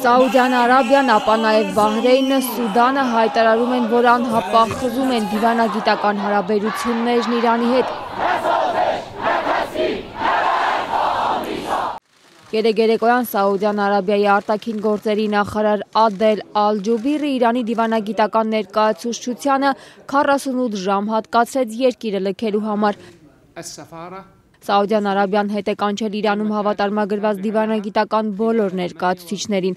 Սաուդյան Արաբիան, ապա նաև Բահրեյնը, Սուդանը հայտարարում են, որ անհապաղ խզում են դիվանագիտական հարաբերություններն Իրանի հետ։ Երեկոյան Սաուդյան Արաբիայի արտաքին գործերի նախարար Ադել Ալ-Ջուբիրը Իրանի դիվանագիտական ներկայացուցչությանը 48 ժամ հատկացրեց երկիրը լքելու համար։ Սաուդյան Արաբիան հետ է կանչել Իրանում հավատարմագրված դիվանագիտական բոլոր ներկայացուցիչներին։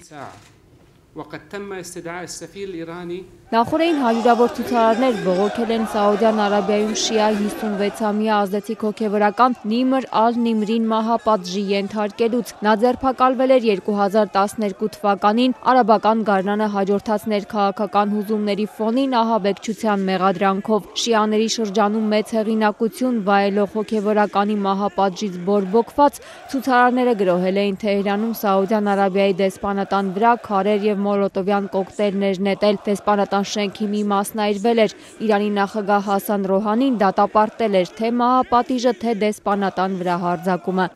Նախորդին հարյուրավոր ցուցարարներ բողոքել են Սաուդյան Արաբիայում շիա 56-ամյա ազդեցիկ հոգևորական Նիմր Ալ-Նիմրին մահապատժի ենթարկելուց։ Նա ձերբակալվել էր 2012 թվականին արաբական գարնանը հաջորդած ներքաղաքական հուզումների ֆոնին ահաբեկչության մեղադրանքով։ Շիաների շրջանում մեծ հեղինակություն վայելող հոգևորականի մահապատժից բորբոքված ցուցարարները գրոհել էին Թեհրանում Սաուդյան Արաբիայի դեսպանատան վրա քարեր և մոլոտովյան կոկտեյլներ նետել։ Դեսպանատան շենքի մի մասն այրվել էր։ Իրանի նախագահ Հասան Ռոհանին դատապարտել էր թե մահապատիժը, թե դեսպանատան վրա հարձակումը։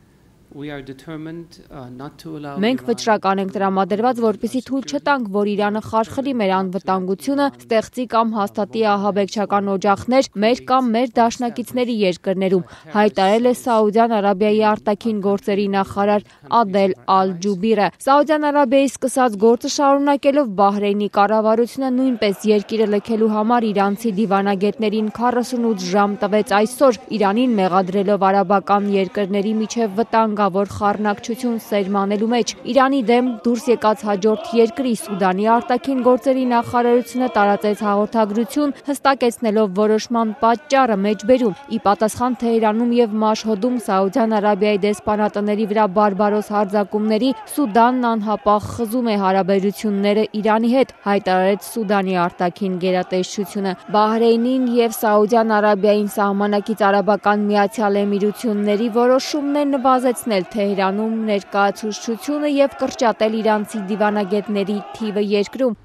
Մենք վճռական ենք տրամադրված, որպեսզի թույլ չտանք, որ Իրանը խարխլի մեր անվտանգությունը, ստեղծի կամ հաստատի ահաբեկչական օջախներ մեր կամ մեր դաշնակիցների երկրներում, հայտարարել է Սաուդյան Արաբիայի արտաքին գործերի նախարար Ադել Ալ-Ջուբիրը։ Սաուդյան Արաբիայի սկսած գործը շարունակելով Բահրեյնի կառավարությունը նույնպես երկիրը լքելու համար իրանցի դիվանագետներին 48 ժամ տվեց այսօր, Իրանին մեղադրելով արաբական երկրների միջև վտանգավոր խառնակցություն սերմանելու մեջ։ Իրանի դեմ դուրս եկած հաջորդ երկրի Սուդանի արտաքին գործերի նախարարությունը տարածեց հաղորդագրություն, հստակեցնելով որոշման պատճառը մեջբերում։ Ի պատասխան Թեհրանում և Մաշհոդում Սաուդյան Արաբիայի դեսպանատների վրա բարբարոս հարձակումների, Սուդանն անհապաղ խզում է հարաբերությունները Իրանի հետ, հայտարարեց Սուդանի արտաքին գերատեսչությունը։ Բահրեյնին և Սաուդյան Արաբիային սահմանակից Արաբական Միացյալ Էմիրությունների որոշումն է նվազեցնել Թեհրանում ներկայացուցչությունը և կրճատել իրանցի դիվանագետների թիվը երկրում։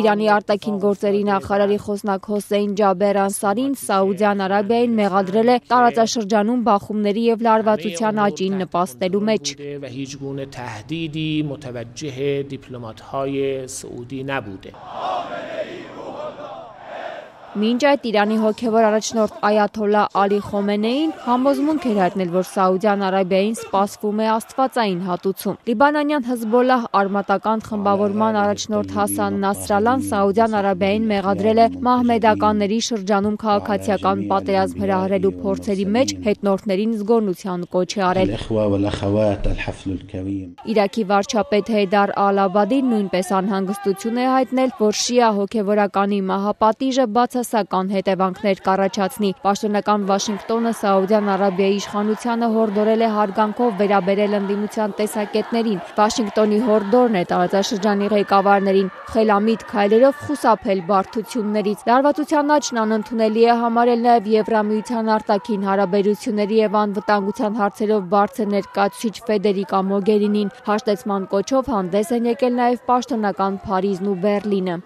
Իրանի արտաքին գործերի նախարարի խոսնակ Հոսեյն Ջաբեր Անսարին Սաուդյան Արաբիային մեղադրել է տարածաշրջանում բախումների և լարվածության աճին նպաստելու մեջ։ Մինչ այդ Իրանի հոգևոր առաջնորդ Այաթոլլահ Ալի Խոմենեին համոզմունք էր հայտնել, որ Սաուդյան Արաբիային սպասվում է աստվածային հատուցում։ Լիբանանյան Հեզբոլլահ արմատական խմբավորման առաջնորդ Հասան Նասրալլան Սաուդյան Արաբիային մեղադրել է մահմեդականների շրջանում քաղաքացիական պատերազմ հրահրելու փորձերի մեջ հետնորդներին զգոնության կոչ է արել։ Իրաքի վարչապետ Հեյդար Ալ-Աբադին նույնպես անհանգստություն է հայտնել, որ շիա հոգևորականի մահապատիժը բացասական հետևանքներ կառաջացնի։ Պաշտոնական Վաշինգտոնը Սաուդյան Արաբիայի իշխանությանը հորդորել է հարգանքով վերաբերել ընդդիմության տեսակետներին։ Վաշինգտոնի հորդորն է տարածաշրջանի ղեկավարներին խելամիտ քայլերով խուսափել բարդություններից։ Լարվածության աճն անընդունելի է համարել նաև Եվրամիության արտաքին հարաբերությունների և անվտանգության հարցերով բարձր ներկայացուցիչ Ֆեդերիկա Մոգերինին։ Հաշտեցման կոչով հանդես են եկել նաև պաշտոնական Փարիզն ու Բեռլինը։